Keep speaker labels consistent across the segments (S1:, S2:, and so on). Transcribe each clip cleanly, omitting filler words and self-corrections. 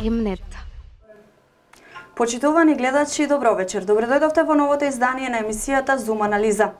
S1: Химнет.
S2: Почитувани гледачи, добро вечер. Добре дојдовте во новото издание на емисијата Зум анализа.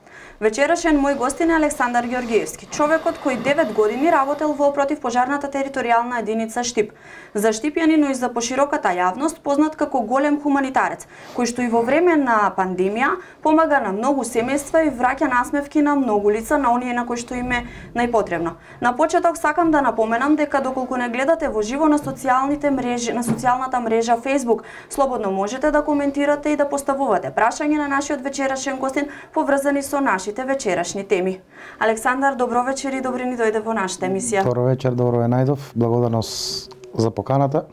S2: Вечерашен мој гостин е Александар Ѓоргиевски, човекот кој 9 години работел во противпожарната територијална единица Штип. За штипјани, но и за пошироката јавност, познат како голем хуманитарец, кој што и во време на пандемија помага на многу семејства и враќа насмевки на многу лица, на оние на кои што им е најпотребно. На почеток сакам да напоменам дека доколку не гледате во живо на социјалните мрежи, на социјалната мрежа Facebook, слободно можете да коментирате и да поставувате прашања на нашиот вечерашен гостин поврзани со нашите вечерашни теми. Александар, добро вечер и добри ни дојде во нашата емисија.
S3: Добро вечер, добро ве најдов. Благодарност за поканата.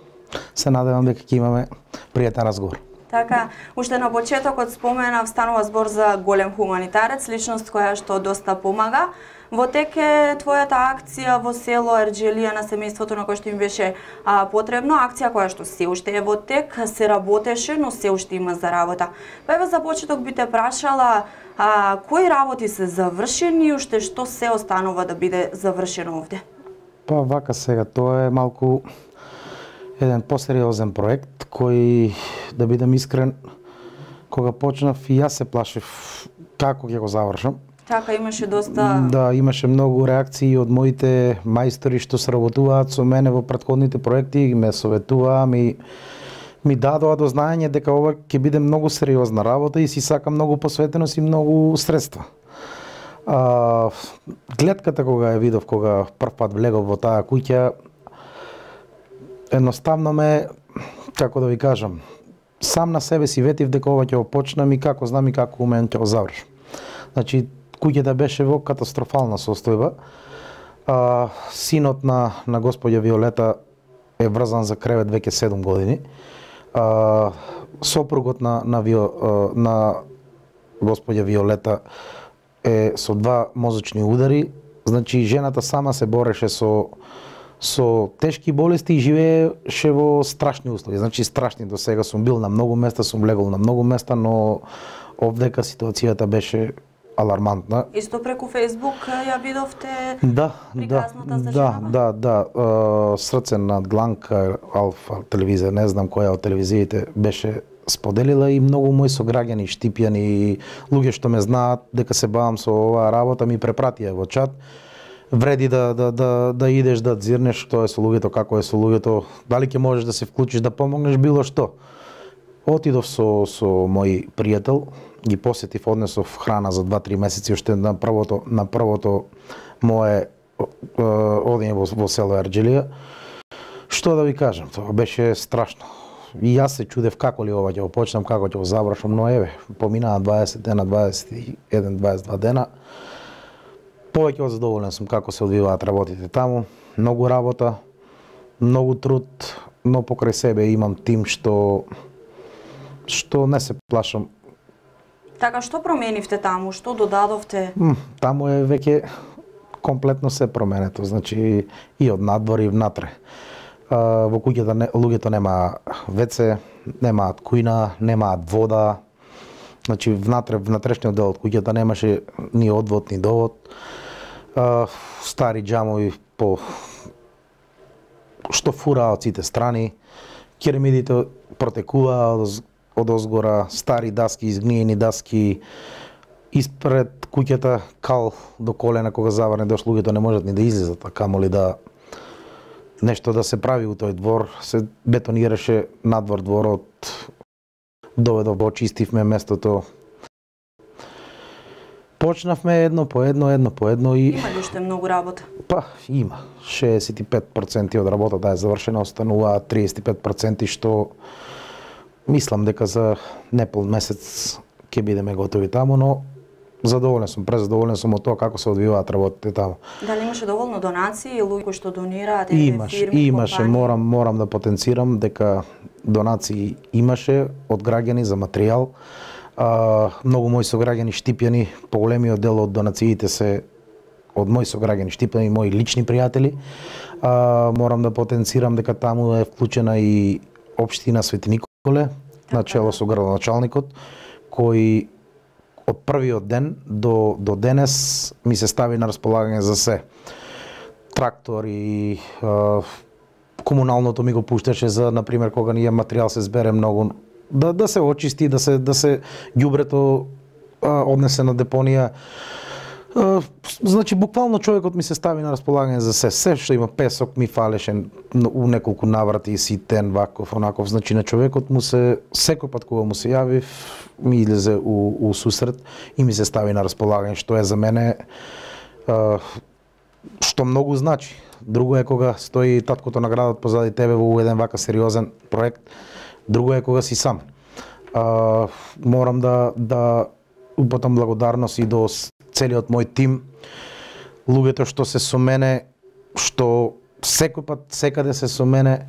S3: Се надевам дека ќе имаме пријатен разговор.
S2: Така, уште на почетокот споменав, станува збор за голем хуманитарец, личност која што доста помага. Во тек е твојата акција во село Ерџелија на семејството на кој што им беше потребно, акција која што се уште е во тек, се работеше, но се уште има за работа. Па еве за почеток би те прашала кои работи се завршени и уште што се останува да биде завршено овде?
S3: Па вака сега, тоа е малку еден посериозен проект кој, да бидам искрен, кога почнав и јас се плашев како ќе го завршам.
S2: Така, имаше доста...
S3: Да, имаше многу реакции од моите мајстори што сработуваат со мене во претходните проекти, ме советуваа, ми дадоа до знаење дека ова ќе биде многу сериозна работа и си сака многу посветеност и многу средства. Гледката кога ја видов, кога прв пат влегов во таа куќа, едноставно ме, како да ви кажам, сам на себе си ветив дека ова ќе го почнам и како знам и како умеам ќе го завршам. Значи, куќата беше во катастрофална состојба. Синот на господја Виолета е врзан за кревет веќе 7 години. Сопругот на господја Виолета е со 2 мозочни удари. Значи, жената сама се бореше со тешки болести и живееше во страшни услови. Значи, страшни. До сега сум бил на многу места, сум легол на многу места, но овдека ситуацијата беше алармантна.
S2: Исто преку Facebook ја видовте приказната за
S3: женава? Да. Срце над Гланка, Алфа телевизија, не знам која од телевизиите беше споделила и многу мои сограѓани, штипјани и луѓе што ме знаат дека се бавам со оваа работа ми препратија во чат. Вреди да идеш да дзирнеш што е со луѓето, како е со луѓето, дали ќе можеш да се вклучиш да помогнеш било што. Отидов со мој пријател, ги посетив, однесов храна за 2-3 месеци уште на првото мое одење во село Ерџелија. Што да ви кажам, тоа беше страшно. И јас се чудев како ли ова ќе го почнам, како ќе го завршам, но еве, поминаа 20 дена, 21-22 дена. Повеќе од задоволен сум како се одвиваат работите таму. Многу работа, многу труд, но покрај себе имам тим што не се плашам.
S2: Така, што променивте таму? Што додадовте?
S3: Таму е веќе комплетно се променето, значи и од надвор и внатре. Во куќата луѓето нема веце, немаат кујна, немаат вода. Значи внатрешниот дел од куќата немаше ни одвод, ни довод. Стари џамови што фураа од сите страни. Керемидите протекуваа од озгора, стари даски, изгниени даски, испред куќата кал до колена, кога заврне дош луѓето не можат ни да излезат, а камоли да нешто да се прави у тој двор, се бетонираше надвор дворот, доведов го очистивме местото. Почнавме едно по едно и...
S2: Има ли уште многу работа?
S3: Па, има. 65% од работата е завршена, останува 35% што мислам дека за непол месец ќе бидеме готови таму, но задоволен сум, презадоволен сум од тоа како се одвиваат работите таму.
S2: Дали имаше доволно донации, луѓе што донираат,
S3: имаше, морам да потенцирам дека донации имаше од граѓани за материјал. Многу мои сограѓани штипјани, поголемиот дел од донациите се од мои сограѓани штипјани, мои лични пријатели. Морам да потенцирам дека таму е вклучена и општина Свети Николе, начело со градоначалникот, кој од првиот ден до денес ми се стави на располагање за се. Трактори, комуналното ми го пушташе за, например, кога ние материјал се збере многу, да се очисти, да се ѓубрето однесе на депонија. Значи, буквално човекот ми се стави на располагање за се што има песок ми фалеше у неколку наврати, ситен, ваков, онаков. Значи, на човекот му се, секој пат кога му се јави, ми излезе у сусрет и ми се стави на располагање, што е за мене што многу значи. Друго е кога стои таткото на градот позади тебе во еден вака сериозен проект, друго е кога си сам. Морам да упатам благодарност и до целиот мој тим, луѓето што се со мене, што секој пат секаде се со мене,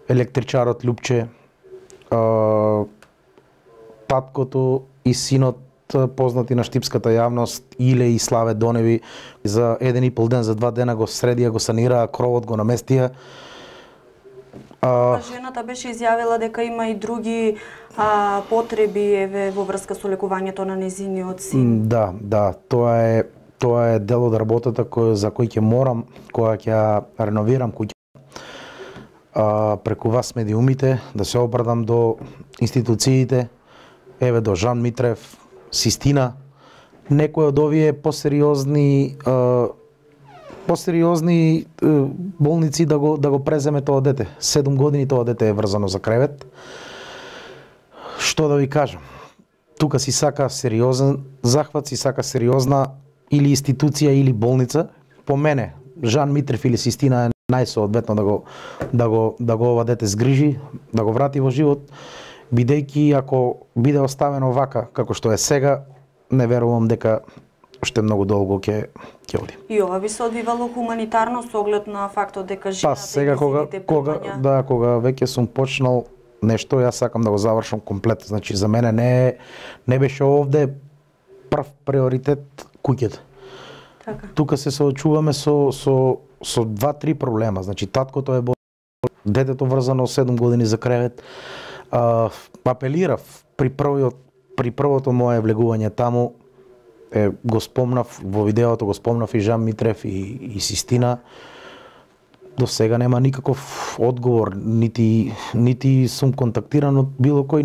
S3: електричарот Лјупче, таткото и синот познати на штипската јавност, Иле и Славе Доневи, за 1,5 ден, за 2 дена го средија, го санираа, кровот го наместија.
S2: Жената беше изјавила дека има и други потреби еве во врска со лекувањето на нејзиниот син.
S3: Да, тоа е дел од работата за кој ќе морам, кога ќе реновирам куќа, преку вас медиумите, да се обрадам до институциите, еве до Жан Митрев, Систина, некои од овие посериозни болници да го преземе тоа дете. 7 години тоа дете е врзано за кревет. Што да ви кажам? Тука си сака сериозен захват, си сака сериозна или институција или болница. По мене, Жан Митрев или Систина е најсоодветно да го ова дете згрижи, да го врати во живот, бидејќи ако биде оставено вака како што е сега, не верувам дека уште многу долго ќе оди.
S2: И ова би се одвивало хуманитарно со оглед на фактот дека жената
S3: сега кога веќе сум почнал нешто, јас сакам да го завршам комплет. Значи за мене не беше овде прв приоритет куќата.
S2: Така.
S3: Тука се соочуваме со 2-3 проблема. Значи таткото е детето врзано 7 години за кревет. Апелирав при првото мое влегување таму, го спомнав во видеото, го спомнав и Жан Митрев и Систина. До сега нема никаков одговор, нити сум контактиран од било кој,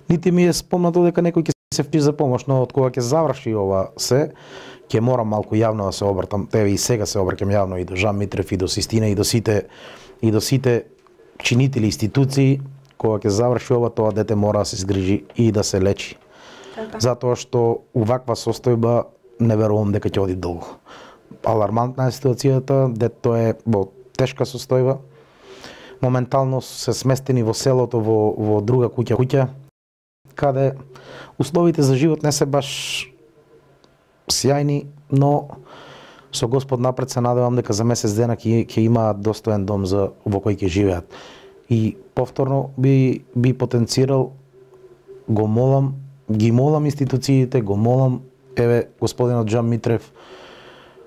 S3: нити ми е спомнато дека некој ќе се впиши за помош, но од кога ќе заврши ова се, ќе морам малку јавно да се обратам. Еве и сега се обраќам јавно и до Жан Митрев и до Систина и до сите чинители институции. Кога ќе заврши ова, тоа дете мора да се згрижи и да се лечи.
S2: Така.
S3: Затоа што уваква состојба не верувам дека ќе оди долго. Алармантна е ситуацијата, детето е во тешка состојба. Моментално се сместени во селото во друга куќа, каде условите за живот не се баш сјајни, но со Господ напред се надевам дека за месец дена ќе имаат достоен дом во кој ќе живеат. И повторно би потенцирал, ги молам институциите, го молам, еве, господинот Жан Митрев,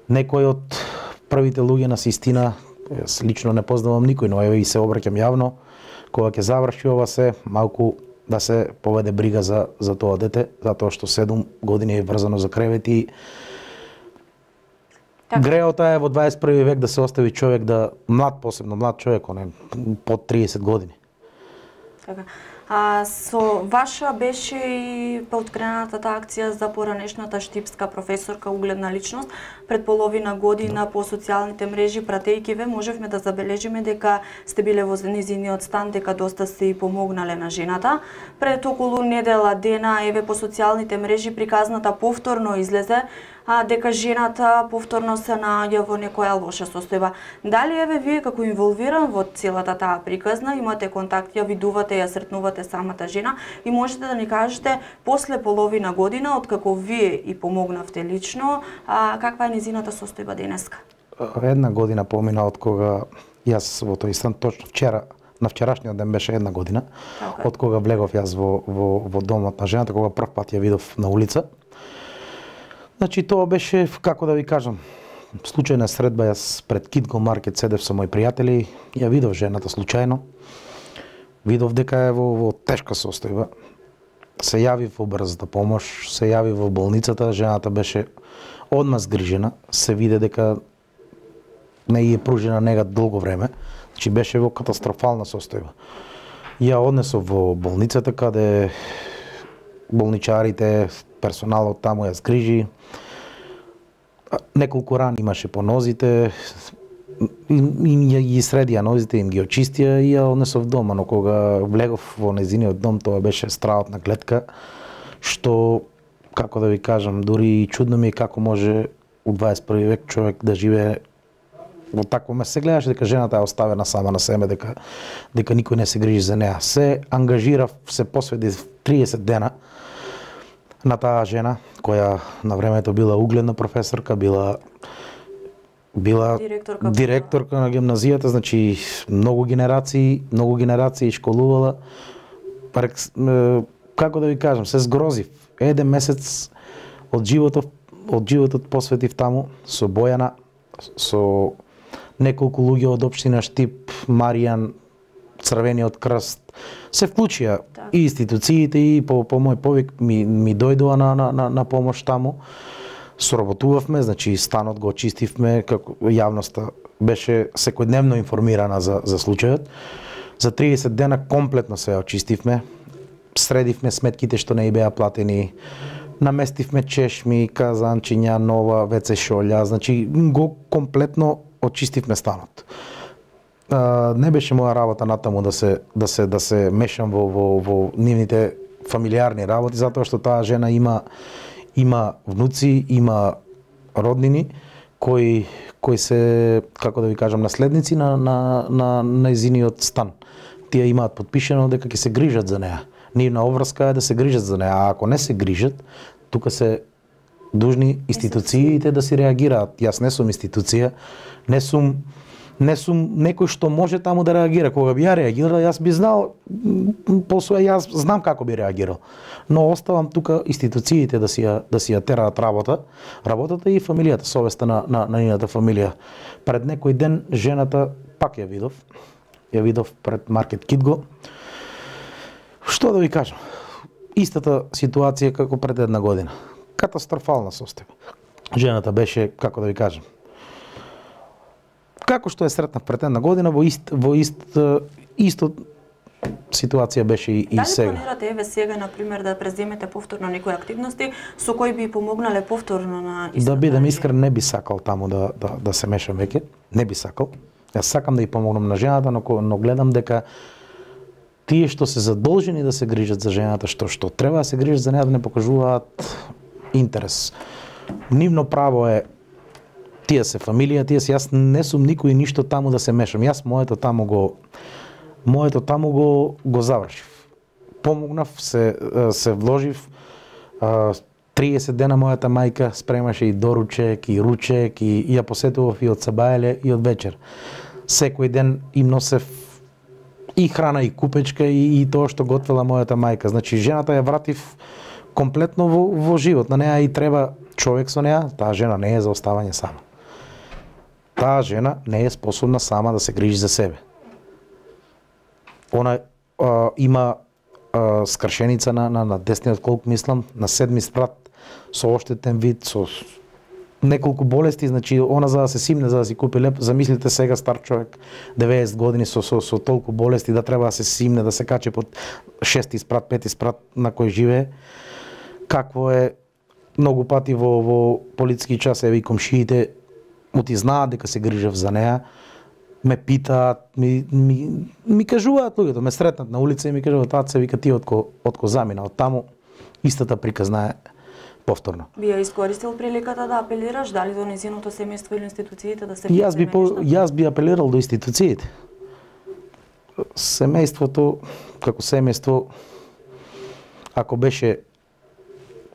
S3: некој од првите луѓе на Систина, јас лично не познавам никој, но еве и се обраќам јавно, кога ќе заврши ова се, малку да се поведе брига за тоа дете, затоа што 7 години е врзано за кревет и греота е во 21 век да се остави човек посебно млад човек, под 30 години.
S2: Така. Со ваша беше и поткренатата акција за поранешната штипска професорка угледна личност. Пред половина година по социјалните мрежи пратејќи ве можевме да забележиме дека сте биле во нејзиниот стан, дека доста сте и помогнале на жената. Пред околу недела дена еве по социјалните мрежи приказната повторно излезе дека жената повторно се наоѓа во некоја лоша состојба. Дали еве вие како инволвиран во целата таа приказна имате контакт, ја видувате, ја сретнувате самата жена и можете да ни кажете после половина година откако вие и помогнавте лично, каква е нејзината состојба денеска?
S3: 1 година помина од кога јас во тој стан, точно вчера, на вчерашниот ден беше 1 година, од кога влегов јас во домот на жената, кога прв пат ја видов на улица. Значи тоа беше, како да ви кажам, случајна средба, јас пред Китго маркет седев со мои пријатели, ја видов жената случајно, видов дека е во тешка состојба, се јави во брзата помош, се јави во болницата, жената беше одма згрижена, се виде дека не ја пружена нега долго време, значи беше во катастрофална состојба. Ја однесов во болницата каде болничарите, персоналот таму ја згрижи. Неколку рани имаше по нозите, им ги средија нозите, им ги очистија и ја однесов дома, но кога влегов во незиниот дом, тоа беше страотна гледка, што, како да ви кажам, дури чудно ми е како може у 21 век човек да живее во такво место. Се гледаше дека жената е оставена сама на себе, дека никој не се грижи за неа. Се ангажирав, се посвети 30 дена на таа жена, која на времето била угледна професорка, била директорка на гимназијата, значи многу генерации школувала. Како да ви кажам, се згрозив. Еден месец од животот посветив таму со Бојана, со неколку луѓе од општина Штип, Маријан, Црвениот крст, се вклучија и институциите и по мој повик ми дојдоа на помош таму. Соработувавме, значи станот го очистивме, како јавноста беше секојдневно информирана за случајот. За 30 дена комплетно се очистивме, средивме сметките што не беа платени, наместивме чешми, казанчиња, нова WC шолја, значи го комплетно очистивме станот. Не беше моја работа натаму да се мешам во нивните фамилиарни работи, затоа што таа жена има внуци, има роднини кои се, како да ви кажам, наследници на нејзиниот стан. Тие имаат потпишено дека ќе се грижат за неа. Нивна обврска е да се грижат за неа, а ако не се грижат, тука се дужни институциите да си реагираат. Јас не сум институција, не сум некој што може таму да реагира. Кога би ја реагирал, јас би знал, јас знам како би реагирал. Но оставам тука институциите да си ја тераат работата и фамилијата, совеста на нивната фамилија. Пред некој ден жената пак ја видов пред Маркет Кидго. Што да ви кажам? Истата ситуација како пред една година. Катастрофална состојба. Жената беше, како да ви кажам, како што е сретнав пред една година, во исто ситуација беше и сега.
S2: Дали планирате сега, например, да преземете повторно некои активности со кои би помогнале повторно на истата?
S3: Да бидам искрен, не би сакал таму да се мешам веќе. Не би сакал. Јас сакам да ја помогнам на жената, но гледам дека тие што се задолжени да се грижат за жената, што треба да се грижат за неа, да не покажуваат интерес. Нивно право е, тие се фамилија, јас не сум никој ништо таму да се мешам. Јас моето таму го завршив. Помогнав, се вложив. 30 дена мојата мајка спремаше и доручек, и ручек, и ја посетував и од сабајле и од вечер. Секој ден им носев и храна, и купечка, и тоа што готвела мојата мајка. Значи, жената ја вратив комплетно во живот. На неа и треба човек со неа. Таа жена не е за оставање сама. Таа жена не е способна сама да се грижи за себе. Она има скршеница на десниот колк, мислам, на 7 спрат, со оштетен вид, со неколку болести, значи она за да се симне, за да си купи леп, замислите сега стар човек, 90 години со толку болести, да треба да се симне, да се каче под 6 спрат, 5 спрат на кој живее. Какво е многу пати во политски час, еви комшиите оти знаат дека се грижав за неа, ме питаат, ми кажуваат луѓето, ме сретнат на улица и ми кажуваат, таце, вика, ти отко замина од таму, истата приказна е повторно.
S2: Би ја искористил приликата да апелираш, дали до нејзиното семејство или институциите да се
S3: Јас би апелирал до институциите. Семејството, како семејство, ако беше,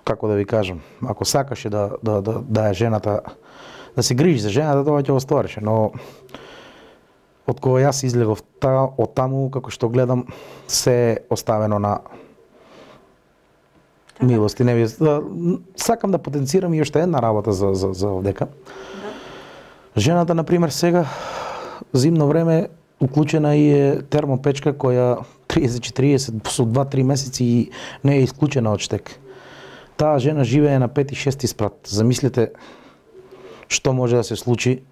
S3: како да ви кажам, ако сакаше да е жената, да се грижи за жената, тоа ќе го стореше, но од кога јас излегов од таму, како што гледам, се оставено на милост и невист. Сакам да потенцирам и уште една работа за овдека. Жената, например, сега, зимно време, уклучена и е термопечка која 30-40 со 2-3 месеци и не е исклучена од штек. Таа жена живее на 5-6 спрат. Замислете што може да се случи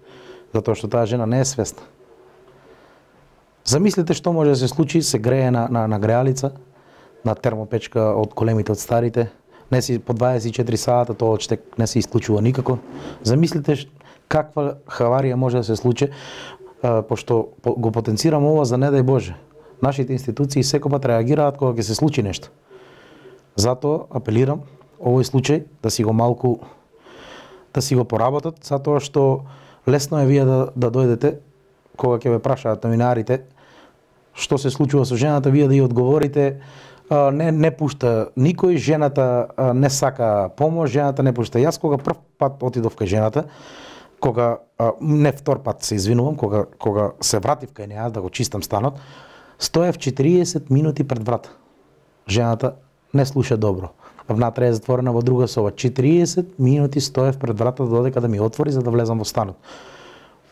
S3: затоа што таа жена не е свесна. Замислете што може да се случи, се грее на греалица, на термопечка од големите, од старите, не си по 24 сата, тоа штек не се исклучува никако. Замислите каква хаварија може да се случи, пошто го потенцирам ова за не дај Боже. Нашите институции секогаш реагираат кога ќе се случи нешто. Затоа апелирам овој случај да си го малку да си го поработат, затоа што лесно е вие да дојдете кога ќе ве прашаат новинарите што се случува со жената, вие да ја одговорите не пушта никој, жената не сака помош, жената не пушта. Јас кога прв пат отидов кај жената, кога не втор пат се извинувам, кога се вратив кај неа да го чистам станот, стоев 40 минути пред врата. Жената не слуша добро. Внатре е затворена во друга соба. 40 минути стоев пред врата додека да ми отвори за да влезам во станот.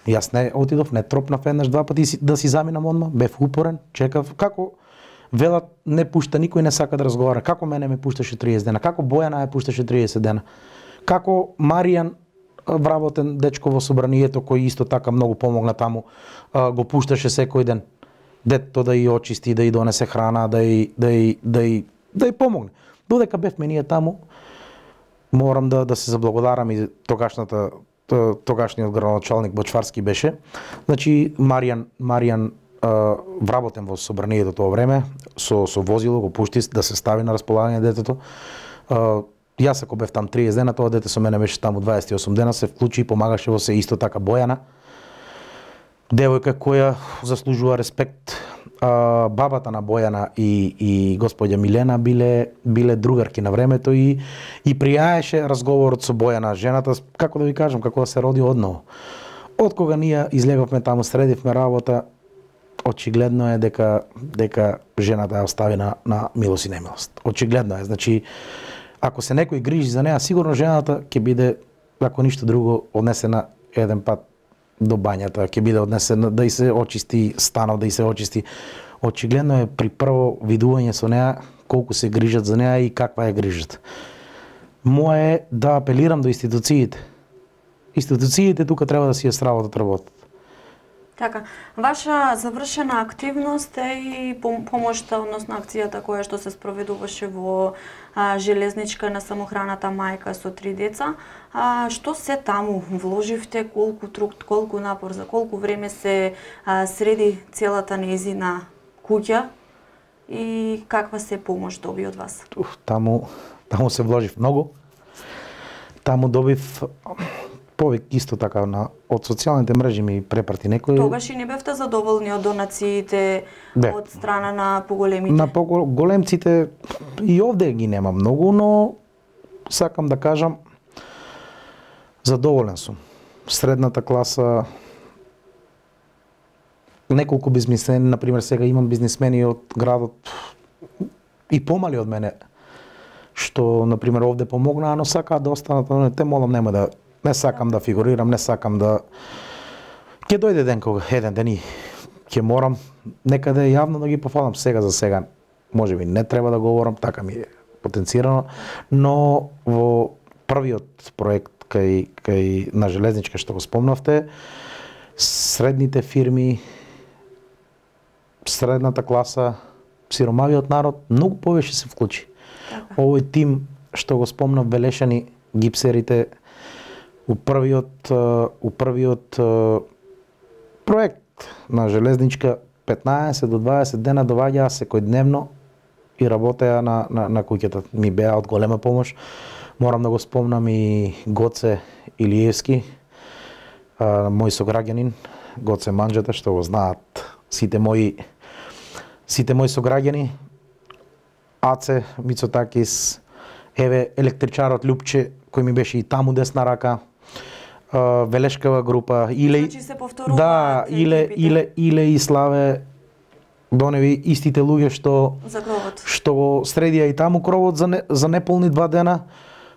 S3: Јас не отидов, не тропнав еднаш два пати да си заминам одма, бев упорен, чекав. Како велат не пушта никој, не сака да разговара. Како мене ме пушташе 30 дена? Како Бојана ја пушташе 30 дена? Како Маријан, вработен дечко во собранието, кој исто така многу помогна таму, го пушташе секој ден? Детето да ја очисти, да ја донесе храна, да ја помогне. Додека бевме ние таму, морам да се заблагодарам и тогашниот градоначалник Бочварски беше. Значи Маријан вработен во собранието тоа време, со возило го пушти да се стави на располагање детето. Јас ако бев там 30 дена, тоа дете со мене беше таму 28 дена, се вклучи и помагаше во се, исто така Бојана. Девојка која заслужува респект. Бабата на Бојана и господја Милена биле другарки на времето и пријаеше разговорот со Бојана. Жената, како да ви кажам, како да се роди одново. Од кога ние излеговме таму, средивме работа, очигледно е дека жената ја остави на милост и немилост. Очигледно е. Значи, ако се некој грижи за неа, сигурно жената ќе биде, ако ништо друго, однесена еден пат до бањата, ќе биде однесена да и се очисти станот, да и се очисти. Очигледно е при прво видување со неа колку се грижат за неа и каква е грижата. Мое е да апелирам до институциите. Институциите тука треба да си ја сработат работата.
S2: Така, ваша завршена активност е и помошта, односно акцијата која што се спроведуваше во железничка на самохраната мајка со 3 деца. Што се таму вложивте, колку труд, колку напор, за колку време се среди целата нејзина куќа и каква се помош доби од вас?
S3: Таму се вложив многу. Таму добив повик исто така од социјалните мрежи ми препрати некој.
S2: Тогаш и не бевте задоволни од донациите од страна на поголемите?
S3: На поголемците и овде ги нема многу, но сакам да кажам задоволен сум. Средната класа, неколку бизнисмени, например сега имам бизнисмени од градот и помали од мене, што например овде помогнаа, но сакаат да останат, те молам нема да не сакам да фигурирам, не сакам да... Ќе дојде ден кога, еден ден и ќе морам некаде јавно да ги пофалам. Сега за сега, може би не треба да говорам, така ми е потенцирано, но во првиот проект кај на железничка што го спомнавте, средните фирми, средната класа, сиромавиот народ, многу повеќе се вклучи. Овој тим што го спомнав, Белешани, гипсерите, у првиот проект на железничка 15 до 20 дена доваѓаа секојдневно и работеа на куќата. Ми беа од голема помош. Морам да го спомнам и Гоце Илиевски, мој сограѓанин, Гоце Манџета, што го знаат сите мои сограѓани. Аце Мицотакис, еве електричарот Љупче, кој ми беше и таму десна рака, Велешкава група, Иле и Славе доневи истите луѓе што го средија и таму кровот за неполни 2 дена.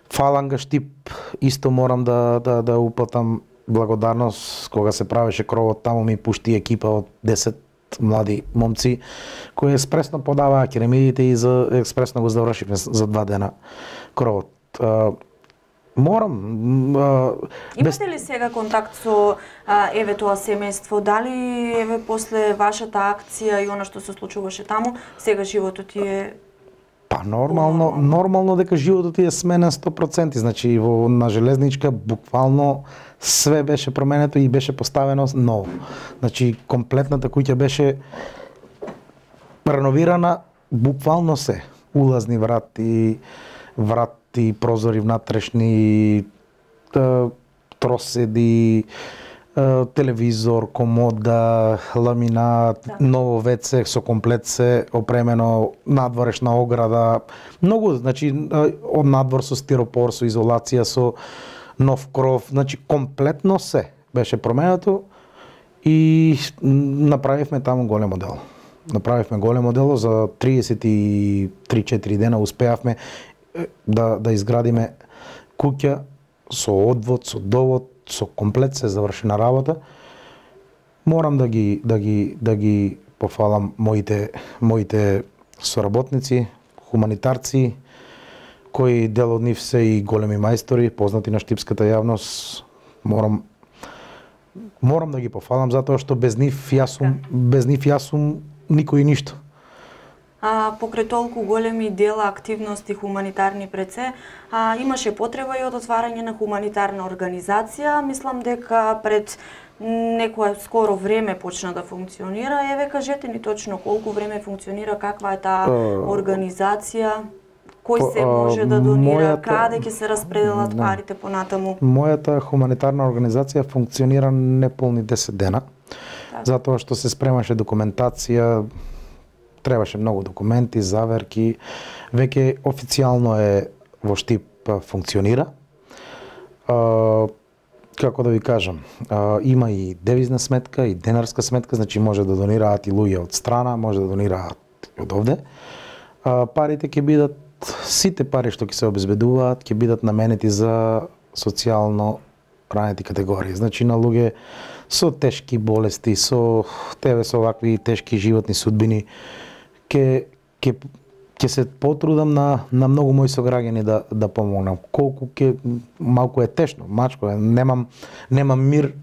S3: Фаланга Штип исто морам да уплатам благодарност, кога се правеше кровот таму ми пушти екипа од 10 млади момци кои експресно подаваа керамидите и за експресно го завршивме за 2 дена кровот. Морам.
S2: Имате ли сега контакт со еве тоа семејство? Дали еве после вашата акција и она што се случуваше таму, сега животот ти е
S3: Па нормално дека животот ти е сменен 100%. Значи на железничка буквално све беше променето и беше поставено ново. Значи комплетната куќа беше реновирана, буквално се. Улазни врати, прозори внатрешни, троседи, телевизор, комода, ламинат, ново WC со комплет се опремено, надворешна ограда, многу, значи од надвор со стиропор, со изолација, со нов кров, значи комплетно се беше променето и направивме таму големо дело. Направивме големо дело за 33-4 дена успеавме да изградиме куќа со одвод, со довод, со комплет се завршена работа. Морам да ги пофалам моите соработници, хуманитарци, кои дел од нив се и големи мајстори, познати на штипската јавност. Морам да ги пофалам затоа што без нив јас сум никој и ништо.
S2: Покрај толку големи дела, активности хуманитарни пред се, имаше потреба и од отварање на хуманитарна организација. Мислам дека пред некое скоро време почна да функционира. Еве, кажете ни точно колку време функционира, каква е таа организација, кој се може да донира, каде ќе се распределат парите понатаму?
S3: Мојата хуманитарна организација функционира неполни 10 дена, затоа што се спремаше документација, требаше многу документи, заверки. Веќе официјално е во Штип функционира. Како да ви кажам, има и девизна сметка и денарска сметка, значи може да донираат и луѓе од страна, може да донираат од овде. Парите ќе бидат, сите пари што ќе се обезбедуваат, ќе бидат наменети за социјално ранети категории. Значи на луѓе со тешки болести, со овакви тешки животни судбини, ќе се потрудам на многу мои сограѓани да помогнам. Колку малку е тешно, мачко е, немам мир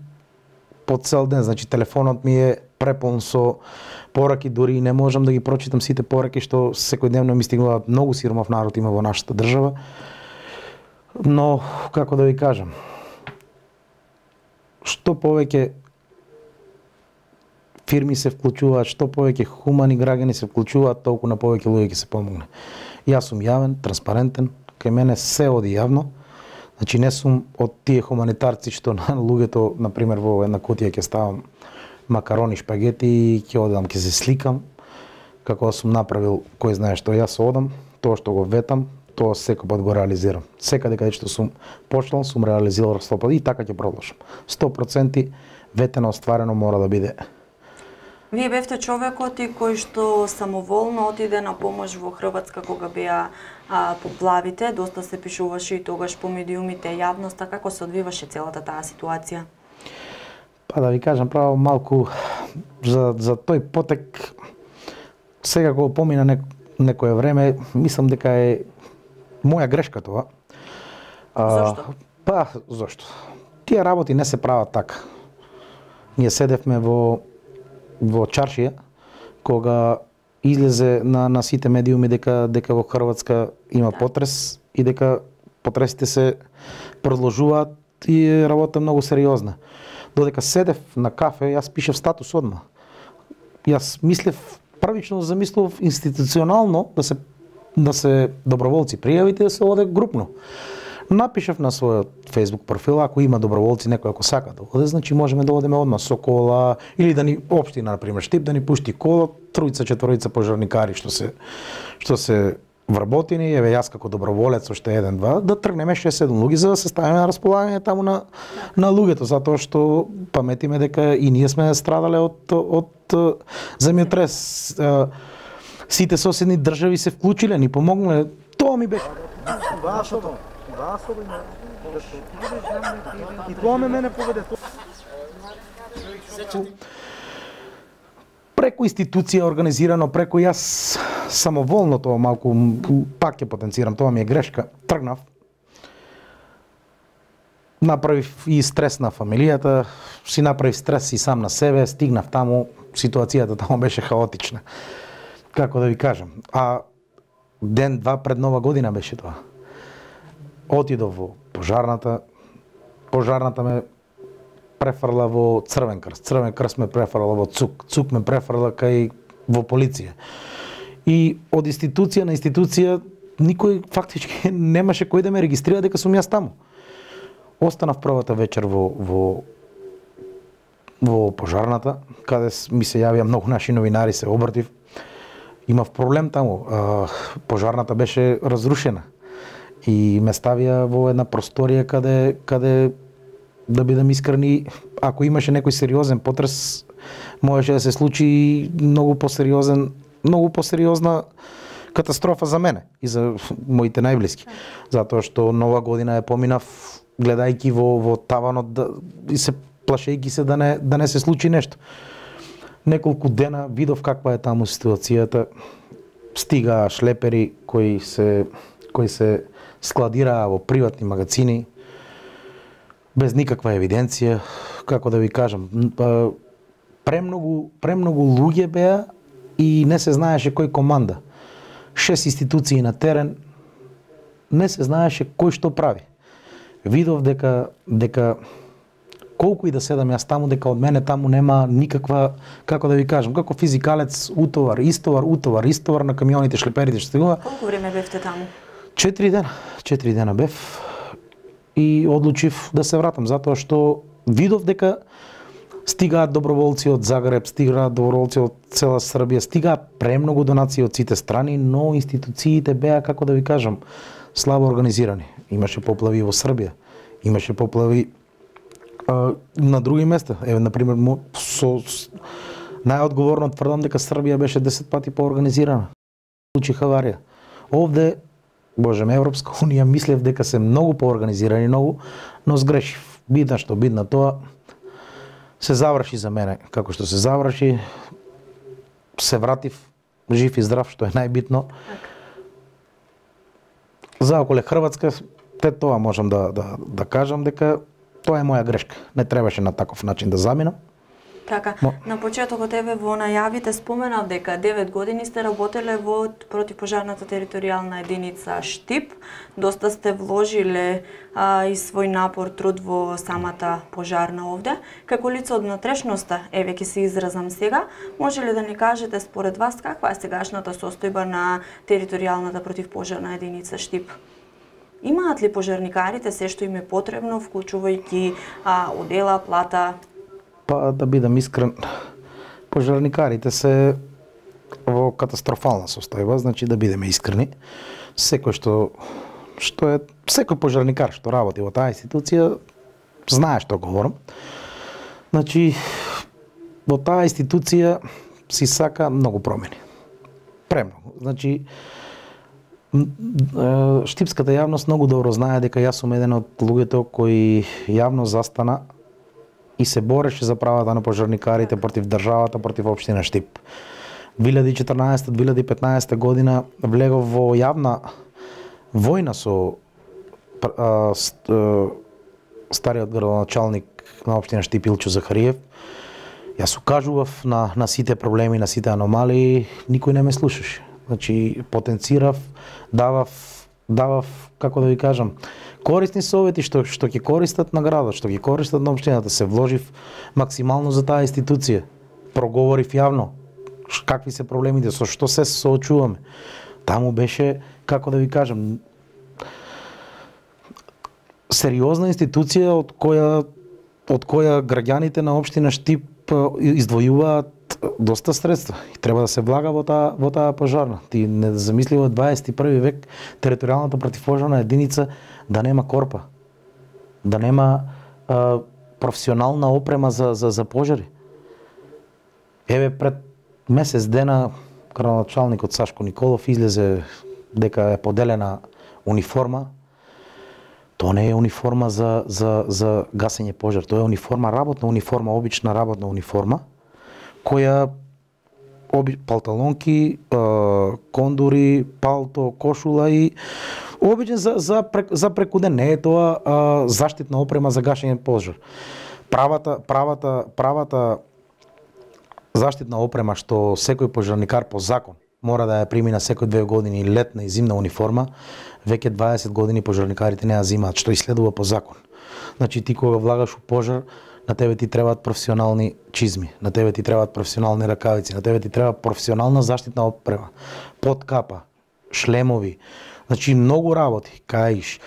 S3: по цел ден, значи телефонот ми е препон со пораки, дури не можам да ги прочитам сите пораки што секојдневно ми стигнуваат. Многу сиромав народ има во нашата држава. Но како да ви кажам, што повеќе фирми се вклучуваат, што повеќе хумани граѓани се вклучуваат, толку на повеќе луѓе ќе се помогне. Јас сум јавен, транспарентен, кај мене се оди јавно. Значи не сум од тие хуманитарци што на луѓето, на пример, во една кутија ќе ставам макарони, шпагети и ќе одам, ќе се сликам, како сум направил кој знае што. Јас одам, тоа што го ветам, тоа секој пат го реализирам. Секаде каде што сум почнал, сум реализирал 100% и така ќе продолжам. 100% ветено, остварено мора да биде.
S2: Вие бевте човекот и кој што самоволно отиде на помош во Хрватска кога беа поплавите, доста се пишуваше и тогаш по медиумите, јавноста, како се одвиваше целата таа ситуација?
S3: Па да ви кажам право малку за тој потек, сега кога помина некое време, мислам дека е моја грешка тоа.
S2: Зошто?
S3: Па, зошто? Тие работи не се прават така. Ние седевме во чаршија, кога излезе на сите медиуми дека во Хрватска има потрес и дека потресите се продолжуваат и работа многу сериозна. Додека седев на кафе, јас пишев статус одма. Јас мислев, првично замислов институционално да се доброволци пријавите да се оде групно. Напишав на својот Facebook профил, ако има доброволци, некој ако сака да оде, значи можеме да одеме одма со кола, или да ни општина, на пример, Штип, да ни пушти кола, 3-4 пожарникари што се вработени, еве јас како доброволец, уште 1-2, да тргнеме 6-7 луѓе за да се ставиме на располагање таму на луѓето, затоа што паметиме дека и ние сме страдале од земјотрес. Сите соседни држави се вклучиле, ни помогнале. Тоа ми беше. И тоа мене поведе. Преку институција организирано, преку јас самоволно тоа малку, пак ќе потенцирам, тоа ми е грешка, тргнав. направив и стрес на фамилијата, си направив стрес и сам на себе, стигнав таму, ситуацијата таму беше хаотична. Како да ви кажам, а ден-два пред Нова година беше тоа. Отидов во пожарната ме префрла во Црвен крст, Црвен крст ме префрла во ЦУК, ЦУК ме префрла кај во полиција. И од институција на институција никој фактички немаше кој да ме регистрира дека сум јас таму. Останав првата вечер во пожарната, каде ми се јавија многу наши новинари, се обратив. Имав проблем таму. Пожарната беше разрушена и ме ставија во една просторија каде да бидам искрени, ако имаше некој сериозен потрес, можеше да се случи многу посериозна катастрофа за мене и за моите најблиски. Затоа што Нова година ја поминав гледајќи во таванот и се плашејќи се да не се случи нешто. Неколку дена видов каква е таму ситуацијата. Стигаа шлепери кои се складираа во приватни магазини без никаква евиденција, како да ви кажам. Премногу луѓе беа и не се знаеше кој команда. 6 институции на терен, не се знаеше кој што прави. Видов дека колку и да седам јас таму, дека од мене таму нема никаква, како да ви кажам, како физикалец, утовар на камионите, шлеперите што стигува.
S2: Колку време бевте таму?
S3: 4 дена бев и одлучив да се вратам, затоа што видов дека стигаат доброволци од Загреб, стигаат доброволци од цела Србија, стигаат премногу донации од сите страни, но институциите беа, како да ви кажам, слабо организирани. Имаше поплави во Србија, имаше поплави на други места. Еве, например, најодговорно тврдам дека Србија беше 10 пати поорганизирана. Случи аварија. Овде, Боже ме, Европска унија, мислев дека се многу поорганизирани, но сгрешив. Бидна што бидна тоа, се заврши за мене како што се заврши. Се вратив жив и здрав, што е најбитно. За околе Хрватска, тоа можам да кажам дека тоа е моја грешка. Не требаше на таков начин да заминам.
S2: Така, на почетокот еве во најавите споменав дека 9 години сте работеле во противпожарната територијална единица Штип. Доста сте вложиле и свој напор, труд во самата пожарна овде. Како лице од внатрешноста, еве ќе се изразам сега, може ли да ни кажете според вас каква е сегашната состојба на територијалната противпожарна единица Штип? Имаат ли пожарникарите се што им е потребно, вклучувајќи одела, плата?
S3: Па да бидам искрен, пожарникарите се во катастрофална состојба, значи да бидеме искрени. Секој пожарникар што работи во таа институција знае што говорам. Значи во таа институција си сака многу промени. Премногу. Значи штипската јавност многу добро знае дека јас сум еден од луѓето кои јавно застана и се бореше за правата на пожарникарите против државата, против општина Штип. 2014-2015 година влегов во јавна војна со стариот градоначалник на општина Штип Илчо Захариев. Јас укажував на сите проблеми, на сите аномалии, никој не ме слушаше. Значи потенцирав, давав, како да ви кажам, корисни совети што ќе користат на градот, што ќе користат на општината. Се вложив максимално за таа институција. Проговорив јавно какви се проблемите, со што се соочуваме. Таму беше, како да ви кажам, сериозна институција од која граѓаните на општина Штип издвојуваат доста средства и треба да се влага во таа пожарна. Ти не замисли во 21 век територијалната противпожарна единица да нема корпа, да нема професионална опрема за пожари. Еве пред месец дена градоначалникот Сашко Николов излезе дека е поделена униформа. Тоа не е униформа за гасење пожар, тоа е униформа, работна униформа, обична работна униформа, која палталонки, кондури, палто, кошула и Обичен за преку ден, не е тоа заштитна опрема за гашење пожар. Правата заштитна опрема што секој пожарникар по закон мора да ја примина секој 2 години летна и зимна униформа, веќе 20 години пожарникарите не ја земаат, што и следува по закон. Значи ти кога влагаш у пожар, на тебе ти требаат професионални чизми, на тебе ти требаат професионални ракавици, на тебе ти треба професионална заштитна опрема, подкапа, шлемови, значи многу работи, каиш,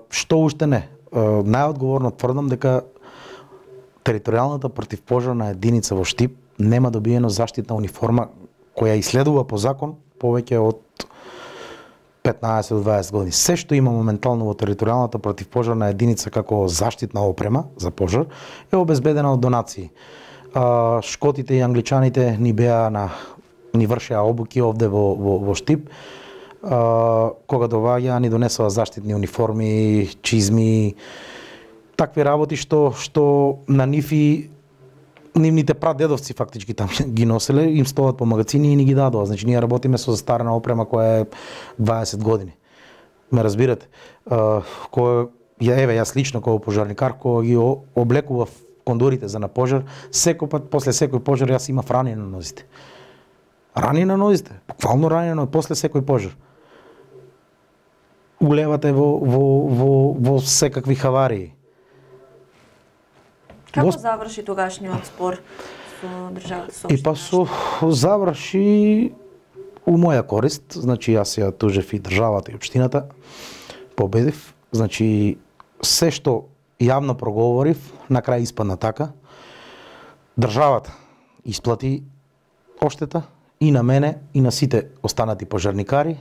S3: што уште не. Најодговорно тврдам дека територијалната противпожарна единица во Штип нема добиено заштитна униформа која исследува по закон повеќе од 15 до 20 години. Се што има моментално во територијалната противпожарна единица како заштитна опрема за пожар е обезбедена од донации. Шкотите и англичаните ни вршеа обуки овде во Штип. Кога доваѓаа ни донесоа заштитни униформи, чизми, такви работи што на нивните прадедовци фактички там ги носеле, им стоат по магазини и ни ги дадоа. Значи ние работиме со застарена опрема која е 20 години. Ме разбирате? Јас лично како пожарникар кога ги облекував кондурите за на пожар, секој пат после секој пожар јас имав рани на нозите. Рани на нозите, буквално рани на нозите, после секој пожар. Улевате во секакви хаварии.
S2: Како заврши тогашниот спор со државата собствена?
S3: Заврши у моја корист, значи јас ја тужев и државата и општината, победив, значи се што јавно проговорив, на крај испадна така. Државата исплати оштета и на мене и на сите останати пожарникари.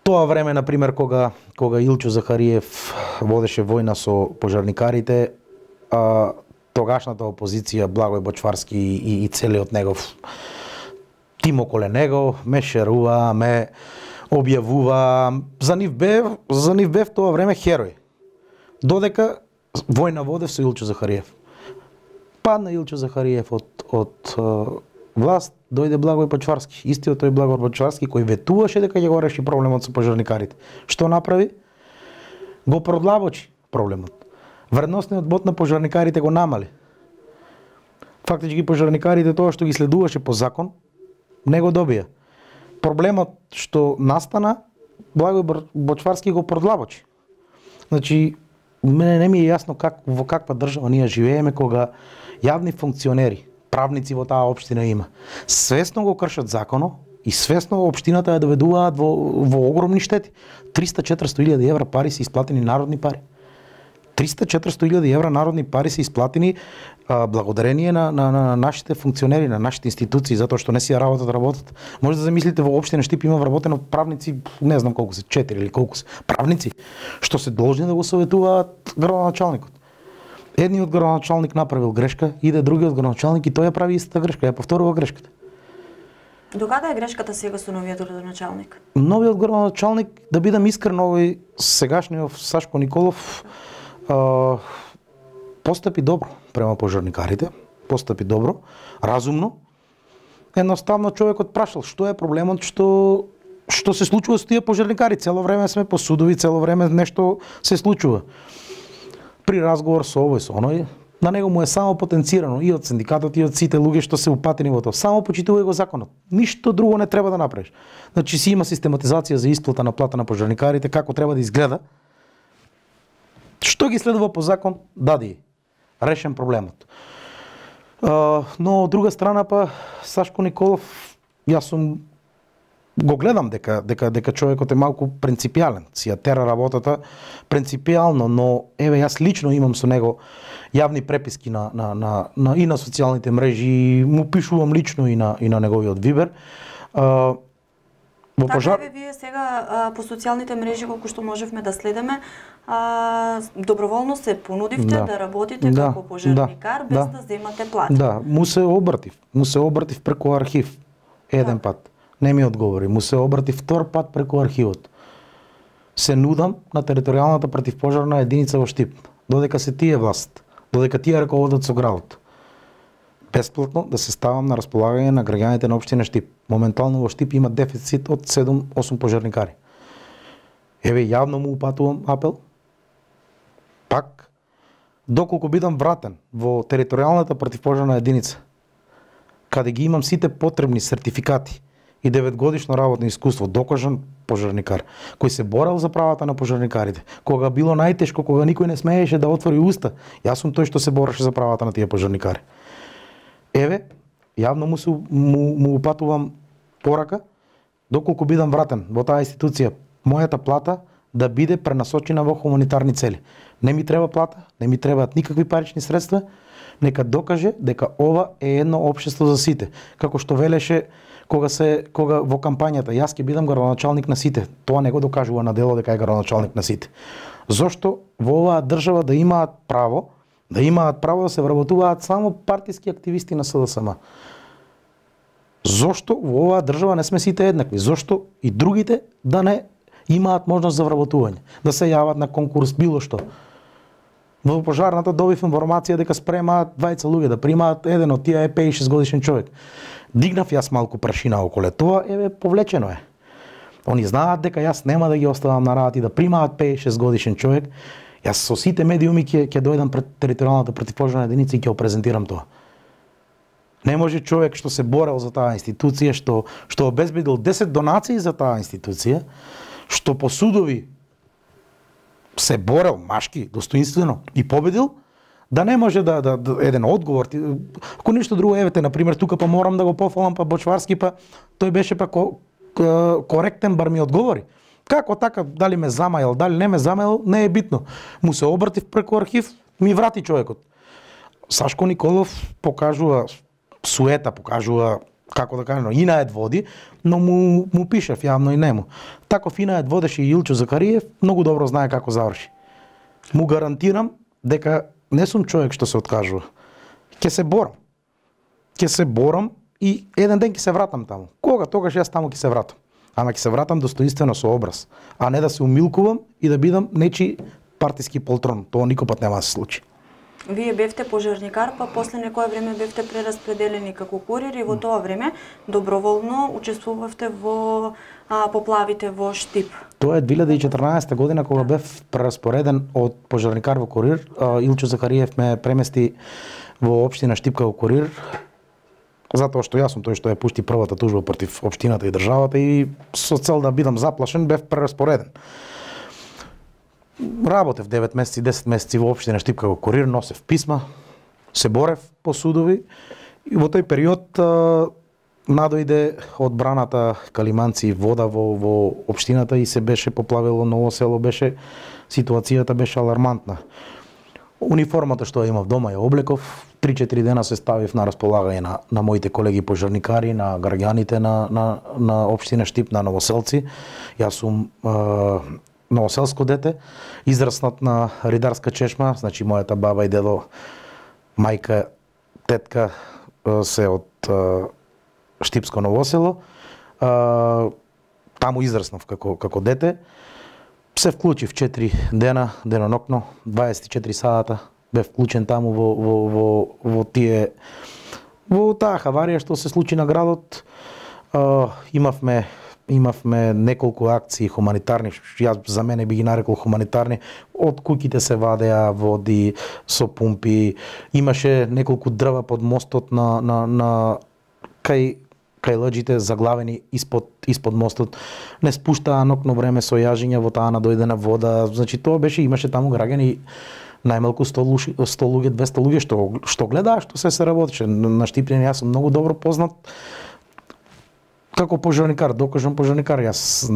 S3: Тоа време, например, кога Илчо Захариев водеше војна со пожарникарите, тогашната опозиција, Благој Бочварски и целиот негов тим околе него, ме шерува, ме објавува. За нив бев тоа време херој. Додека војна водев со Илчо Захариев. Падна Илчо Захариев од власт, дојде Благој Бочварски. Истиот тој Благој Бочварски кој ветуваше дека ќе го реши проблемот со пожарникарите. Што направи? Го продлабочи проблемот. Вредносниот бод на пожарникарите го намали. Фактички пожарникарите тоа што ги следуваше по закон, не го добија. Проблемот што настана, Благој Бочварски го продлабочи. Значи, мене не ми е јасно во каква држава ние живееме кога јавни функционери, правници во таа општина има, свесно го кршат законот и свесно општината ја доведуваат во огромни штети. 300-400 евра пари се исплатени народни пари. 300-400 евра народни пари се исплатени благодарение на нашите функционери, на нашите институции, затоа што не си ја работат. Може да замислите во општина Штип има вработено правници, не знам колку се, 4 или колку се, правници, што се должни да го советуваат градоначалникот. Едниот градоначалник направил грешка, иде другиот градоначалник и тој ја прави истата грешка, ја повторува грешката.
S2: До каде е грешката сега со новиот градоначалник?
S3: Новиот градоначалник, да бидам искрен, овој сегашниот Сашко Николов постапи добро према пожарникарите, постапи добро, разумно. Едноставно човекот прашал што е проблемот, што се случува со тие пожарникари. Цело време сме по судови, цело време нешто се случува. При разговор со овој, со оној, на него му е само потенцирано и од синдикатот и од сите луѓе што се упатени во тоа. Само почитувај го законот. Ништо друго не треба да направиш. Значи си има систематизација за исплата на плата на пожарникарите, како треба да изгледа. Што ги следува по закон, дади решен проблемот. Но од друга страна па Сашко Николов, јас го гледам дека човекот е малку принципијален, си ја тера работата принципијално, но еве јас лично имам со него јавни преписки и на социјалните мрежи, му пишувам лично и на неговиот Вибер.
S2: Така вие сега по социјалните мрежи колку што можевме да следиме, доброволно се понудивте да работите како пожарникар без да земате плата.
S3: Да, му се обратив преку архив еден пат. Не ми одговори, му се обратив втор пат преку архивот. Се нудам на територијалната противпожарна единица во Штип, додека се тие власт, додека тие раководат со градот. Бесплатно да се ставам на располагање на граѓаните на општина Штип. Моментално во Штип има дефицит од 7-8 пожарникари. Еве јавно му упатувам апел. Пак, доколку бидам вратен во територијалната противпожарна единица, каде ги имам сите потребни сертификати и 9-годишно работно искуство, докажан пожарникар, кој се борел за правата на пожарникарите, кога било најтешко, кога никој не смееше да отвори уста, јас сум тој што се бореше за правата на тие пожарникари. Еве, јавно му упатувам порака, доколку бидам вратен во таа институција, мојата плата да биде пренасочена во хуманитарни цели. Не ми треба плата, не ми требаат никакви парични средства, нека докаже дека ова е едно општество за сите. Како што велеше кога во кампањата, јас ќе бидам градоначалник на сите. Тоа не го докажува на дело дека е градоначалник на сите. Зошто во оваа држава да имаат право да се вработуваат само партиски активисти на СДСМ? Зошто во оваа држава не сме сите еднакви? Зошто и другите да не имаат можност за вработување, да се јават на конкурс, било што? Во пожарната добив информација дека спремаат 20 луѓе, да примаат еден од тие е 56 годишен човек. Дигнав јас малку прашина околе тоа, еве повлечено е. Они знаат дека јас нема да ги оставам на работа и да примаат 56 годишен човек. Јас со сите медиуми ќе дојдам пред територијалната противпожарна единица и ќе го презентирам тоа. Не може човек што се борел за таа институција, што обезбедил 10 донации за таа институција, што по судови се борел машки, достоинствено и победил, да не може да еден одговор. Ако ништо друго, евете, например, тука па морам да го пофалам, па Бочварски, па тој беше па коректен, бар ми одговори. Како така, дали ме замајал, дали не ме замајал, не е битно. Му се обратив преку архив, ми врати човекот. Сашко Николов покажува суета, покажува, како да кажем, Инаед води, но му пишев јавно и нему. Таков Инаед водеше и Илчо Закариев, многу добро знае како заврши. Му гарантирам дека не сум човек што се откажува. Ќе се борам и еден ден ќе се вратам таму. Кога? Тогаш јас таму ќе се вратам. Ама ќе се вратам достоинствено со образ, а не да се умилкувам и да бидам нечи партиски полтрон. Тоа никогаш нема да се случи.
S2: Вие бевте пожарникар, па после некое време бевте прераспределени како курир и во тоа време доброволно учествувавте во поплавите во Штип.
S3: Тоа е 2014 година кога бев прераспореден од пожарникар во курир. Илчо Закариев ме премести во општина Штип како курир, затоа што јас сум тој што ја пушти првата тужба против општината и државата и со цел да бидам заплашен бев прераспореден. Работев 9 месеци, 10 месеци во општина Штип како курир, носев писма, се борев по судови и во тој период надојде одбраната Калиманци вода во општината и се беше поплавило Ново село, ситуацијата беше алармантна. Униформата што ја имав дома ја облеков, 3-4 дена се ставив на располагање на моите колеги пожарникари, на граѓаните на општина Штип, на новоселци. Јас сум новоселско дете, израснат на ридарска чешма, значи мојата баба и дедо, мајка, тетка се од Штипско Ново село. Таму израснав како дете. Се вклучив 4 дена, денонокно, 24 сата, бев вклучен таму во таа хаварија што се случи на градот. Имавме неколку акции хуманитарни, јас за мене би ги нарекол хуманитарни, од куќите се вадеа води со пумпи, имаше неколку дрва под мостот кај лаџите заглавени испод мостот, не спуштаа нокно време со јажиња во таа надојдена вода, значи тоа беше, имаше таму граѓани најмалку 100 луѓе, 200 луѓе што гледаа што се работеше. На Штипјани јас сум многу добро познат како пожарникар, докажан пожарникар. Јас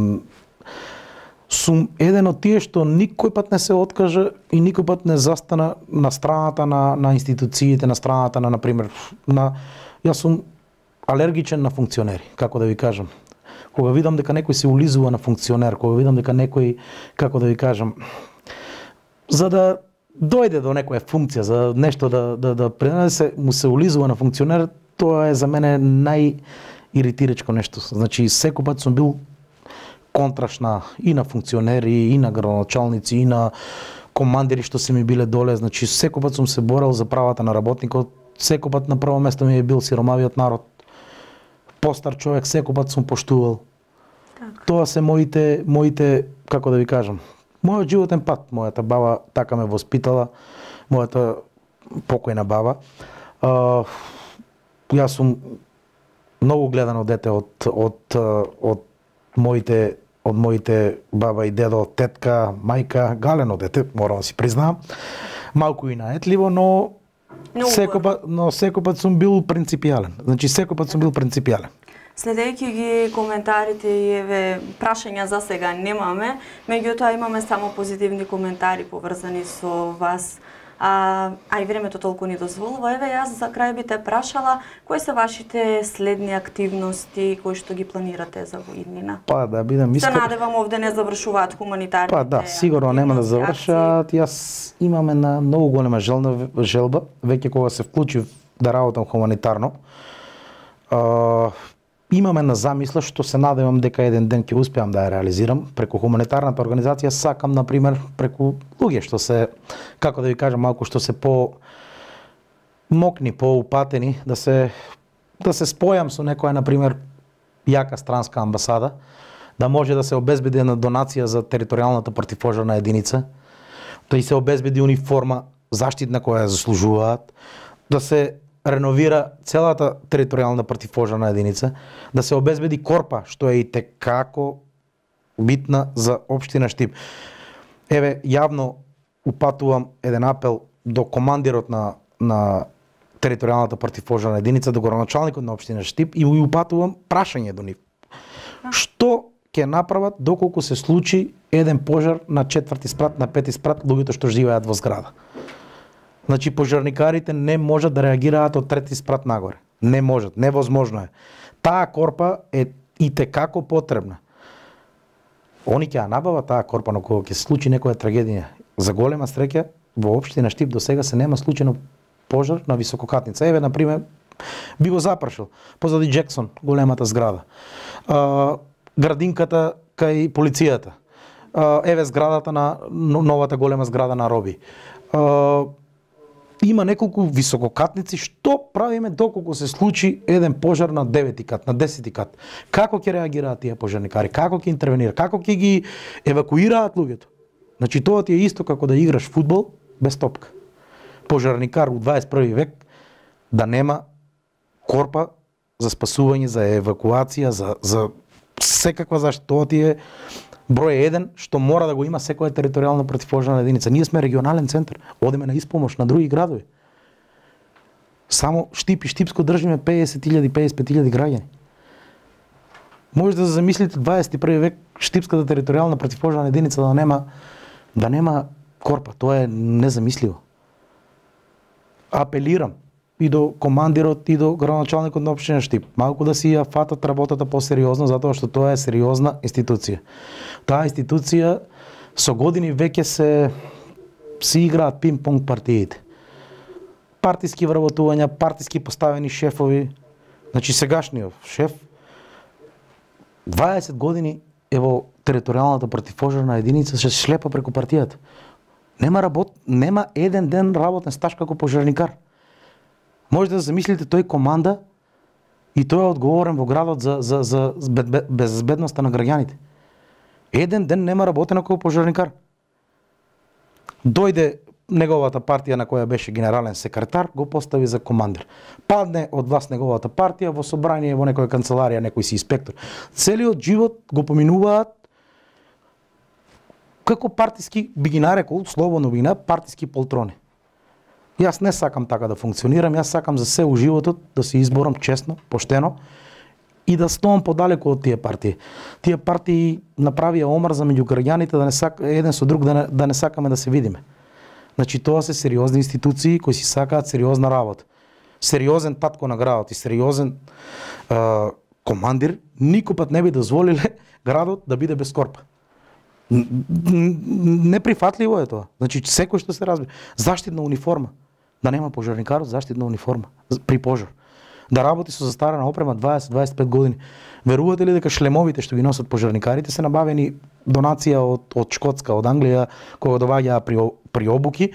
S3: сум еден од тие што никој пат не се откажа и никој пат не застана на страната на институциите, на страната на например, јас сум алергичен на функционери, како да ви кажам. Кога видам дека некој се улизува на функционер, кога видам дека некој, како да ви кажам, за да дојде до некоја функција, за нешто да пренесе, му се улизува на функционер, тоа е за мене најиритирачко нешто. Значи, секој пат сум бил контрашна и на функционери, и на градоначалници, и на командири што се ми биле доле. Значи, секој пат сум се борел за правата на работникот, секој пат на прво место ми е бил сиромавиот народ. Постар човек секој пат сум поштувал. Тоа се моите, како да ви кажам, мојот животен пат. Мојата баба така ме воспитала, мојата покојна баба. Јас сум многу гледано дете од моите баба и дедо, тетка, мајка, галено дете, морам да си признавам. Малку и наетливо, но секој пат сум бил принципијален. Значи секој пат сум бил принципијален.
S2: Следејќи ги коментарите и еве прашања за сега немаме, меѓутоа имаме само позитивни коментари поврзани со вас. А и времето толку ни дозволува. Еве јас за крај би те прашала кои се вашите следни активности кои што ги планирате за во иднина?
S3: Па да бидам искрен.
S2: Се надевам овде не завршуваат хуманитарните.
S3: Па да, сигурно нема да завршат. Јас имам една многу голема желба, веќе кога се вклучив да работам хуманитарно. Имам една замисла што се надевам дека еден ден ќе успеам да ја реализирам. Преку хуманитарната организација сакам, например, преку луѓе што се, како да ви кажам, малку што се по-мокни, по-упатени, да се спојам со некоја, например, јака странска амбасада, да може да се обезбеди една донација за територијалната противпожарна единица, да и се обезбеди униформа заштитна која ја заслужуваат, да се реновира целата територијална противпожарна единица, да се обезбеди корпа, што е и текако битна за општина Штип. Еве, јавно упатувам еден апел до командирот на територијалната противпожарна единица, до градоначалникот на општина Штип и упатувам прашање до нив. Што ќе направат доколку се случи еден пожар на 4-ти спрат, на 5-ти спрат, луѓето што живеат во зграда? Значи, пожарникарите не можат да реагираат од 3-ти спрат нагоре. Не можат, невозможно е. Таа корпа е и текако потребна. Они ќе ја набават таа корпа, но кога ќе се случи некоја трагедија. За голема среќа, во општина Штип до сега се нема случајно пожар на висококатница. Еве, например, би го запрашил позади Джексон, големата зграда. Градинката кај полицијата. Еве зградата на новата голема зграда на Роби. Има неколку висококатници, што правиме доколку се случи еден пожар на 9-ти кат, на 10-ти кат? Како ќе реагираат тие пожарникари? Како ќе интервенираат? Како ќе ги евакуираат луѓето? Значи тоа ти е исто како да играш фудбал без топка. Пожарникар у 21 век да нема корпа за спасување, за евакуација, за секаква заштита. Тоа ти е број 1 што мора да го има секоја територијална противпожарна единица. Ние сме регионален центар, одиме на испомош на други градови. Само Штип и Штипско држиме 50.000, 55.000 граѓани. Може да замислите 21 век Штипската територијална противпожарна единица да нема корпа. Тоа е незамисливо. Апелирам и до командирот и до градоначалникот на општина Штип малку да си ја фатат работата посериозно, затоа што тоа е сериозна институција. Таа институција со години веќе се играат пинг-понг партиите. Партиски вработувања, партиски поставени шефови. Значи сегашниот шеф 20 години е во територијалната противпожарна единица, се шлепа преку партијата. Нема еден ден работен стаж како пожарникар. Може да замислите, тој команда и тој е одговорен во градот за безбедноста на граѓаните. Еден ден нема работено како пожарникар. Дојде неговата партија на која беше генерален секретар, го постави за командир. Падне од власт неговата партија во собрание во некоја канцеларија, некој си инспектор. Целиот живот го поминуваат како партиски, би ги нарекол, слободно би ги нарекол, партиски полтрони. Јас не сакам така да функционирам, јас сакам за се у животот да се изборам честно, поштено и да стоам подалеку од тие партии. Тие партии направија омрза меѓу граѓаните еден со друг да не сакаме да се видиме. Значи тоа се сериозни институции кои си сакаат сериозна работа. Сериозен татко на градот и сериозен командир никој пат не би дозволиле градот да биде без корпа. Неприфатливо е тоа. Значи секој што се разбира. Заштитна униформа. Да нема пожарникарот заштитна униформа при пожар. Да работи со застарена опрема 20-25 години. Верувате ли дека шлемовите што ги носат пожарникарите се набавени донација од Шкотска, од Англија, кога доваѓаа при обуки,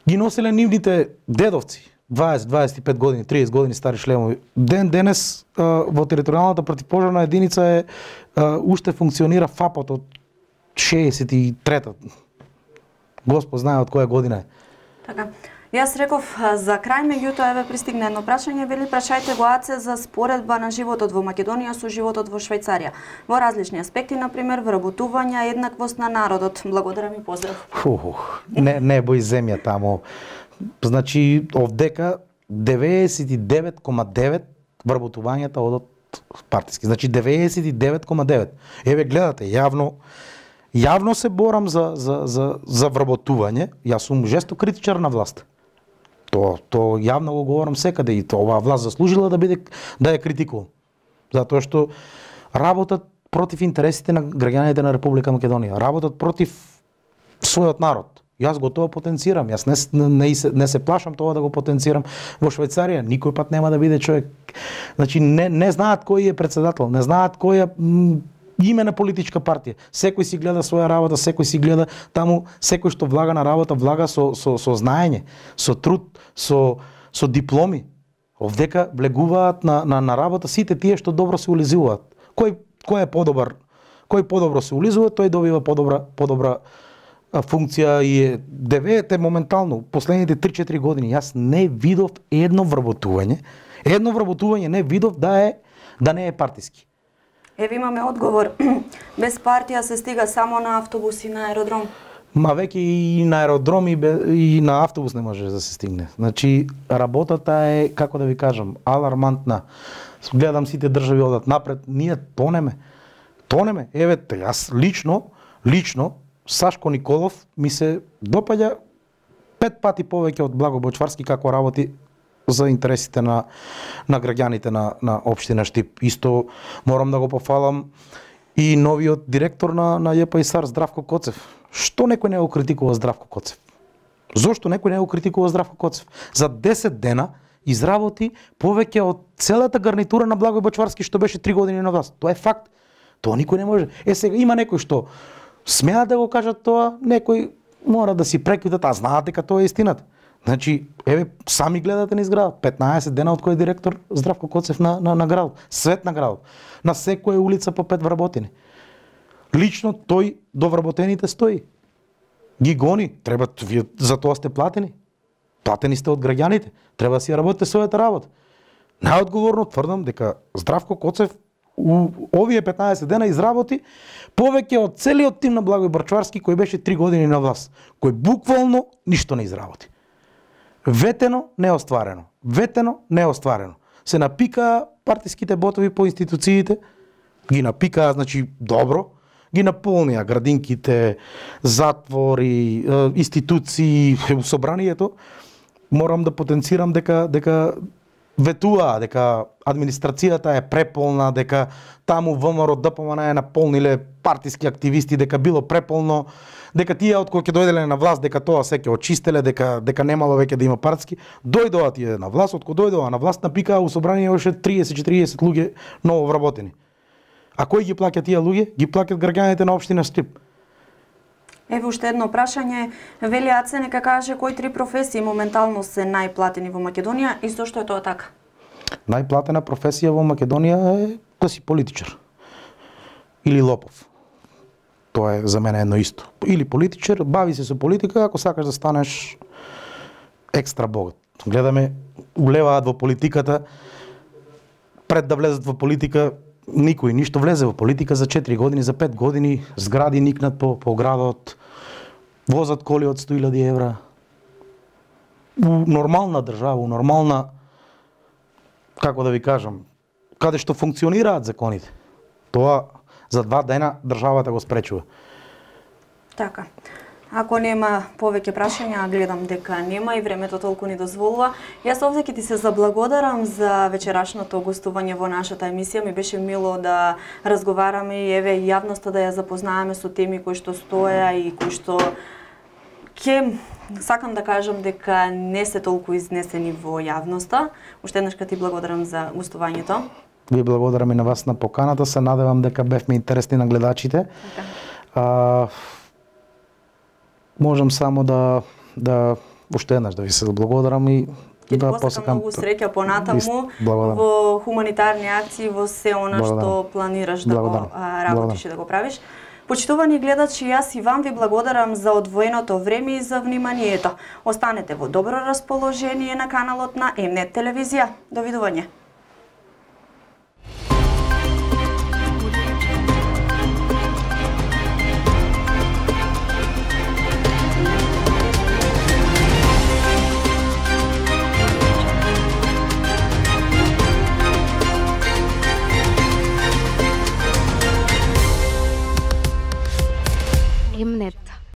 S3: ги носеле нивните дедовци, 20-25 години, 30 години стари шлемови. Денес во територијалната противпожарна единица уште функционира ФАПот од 63-та. Господ знае од која година е.
S2: Така. Јас реков за крај, меѓутоа еве пристигна едно прашање, вели прашајте го АЦ за споредба на животот во Македонија со животот во Швајцарија. Во различни аспекти, например, вработување, еднаквост на народот. Благодарам и поздрав.
S3: Небо и земја таму. Значи, овдека 99,9 вработувањата одат партиски. Значи 99,9. Еве гледате, јавно се борам за вработување. Јас сум жесток критичар на власт. То јавно го говорам секаде и оваа власт заслужила да ја критикувам. Затоа што работат против интересите на граѓаните на Република Македонија, работат против својот народ. Јас го тоа потенцирам. Јас не се плашам тоа да го потенцирам во Швајцарија. Никој пат нема да биде човек. Значи не знаат кој е председател, не знаат кој е име на политичка партија. Секој си гледа своја работа, секој си гледа таму, секој што влага на работа, влага со знаење, со труд, со дипломи. Овдека влегуваат на работа сите тие што добро се улизуваат. Кој е подобар, кој подобро се улизува, тој добива подобра функција и девете моментално, последните 3-4 години, јас не видов едно вработување не видов да не е партиски.
S2: Еве имаме одговор. Без партија се стига само на автобус и на аеродром.
S3: Ма веќе и на аеродром и на автобус не може да се стигне. Значи, работата е, како да ви кажам, алармантна. Гледам сите држави одат напред, ние тонеме. Еве, јас лично Сашко Николов ми се допаѓа 5 пати повеќе од Благо Бочварски како работи за интересите на граѓаните на општина Штип. Исто морам да го пофалам и новиот директор на ЈПИСАР Здравко Коцев. Што некој не го критикува Здравко Коцев? Зошто некој не го критикува Здравко Коцев? За 10 дена изработи повеќе од целата гарнитура на Благој Бочварски што беше 3 години на власт. Тоа е факт. Тоа никој не може. Сега има некој што смеат да го кажат тоа, некој мора да си прекитат, а знаат дека тоа е истината. Значи, еве, сами гледате низ градот, 15 дена од кој е директор Здравко Коцев на градот, свет на градот. На секоја улица по 5 вработени. Лично тој до вработените стои. Ги гони, треба, вие за тоа сте платени. Платени сте од граѓаните, треба да си работите својата работа. Најодговорно тврдам дека Здравко Коцев овие 15 дена изработи повеќе од целиот тим на Благој Бочварски кој беше 3 години на власт, кој буквално ништо не изработи. Ветено, неостварено. Се напикаа партиските ботови по институциите, ги напикаа, значи, добро, ги наполнија градинките, затвори, институции, собранието. Морам да потенцирам дека ветуваа, дека администрацијата е преполна, дека таму ВМРО ДПМН е наполниле партиски активисти, дека било преполно, дека тие од кои ќе дојделе на власт, дека тоа се ќе очистеле, дека немало веќе да има партиски. Дојдоа тие на власт, од кои дојдоа на власт, напикаа у собрание още 30-40 луѓе ново вработени. А кој ги плаќа тие луѓе? Ги плаќаат граѓаните на општина Штип.
S2: Еве уште едно прашање. Вели АЦ нека каже кои 3 професии моментално се најплатени во Македонија и зошто е тоа така?
S3: Најплатена професија во Македонија е да си политичар. Или лопов. Тоа е за мене едно исто. Или политичар, бави се со политика, ако сакаш да станеш екстра богат. Гледаме, улеваат во политиката, пред да влезат во политика, никој ништо влезе во политика за 4 години, за 5 години, згради никнат по градот, возат коли од 100.000 евра. У нормална држава, нормална, како да ви кажам, каде што функционираат законите. Тоа за 2 дена државата го спречува.
S2: Така. Ако нема повеќе прашања, гледам дека нема и времето толку ни дозволува. Јас овде ќе ти се заблагодарам за вечерашното гостување во нашата емисија. Ми беше мило да разговараме и еве јавноста да ја запознаеме со теми кои што стоја и кои што сакам да кажам дека не се толку изнесени во јавноста. Уште еднаш ти благодарам за гостувањето.
S3: Ви благодарам и на вас на поканата. Се надевам дека бевме интересни на гледачите. Можам само да уште еднаш да ви се благодарам и
S2: Ќе ти посакам многу среќа понатаму во хуманитарни акции, во се она што планираш да го работиш и да го правиш. Почитувани гледачи, јас и вам ви благодарам за одвоеното време и за вниманието. Останете во добро расположение на каналот на Mnet телевизија. Довидување.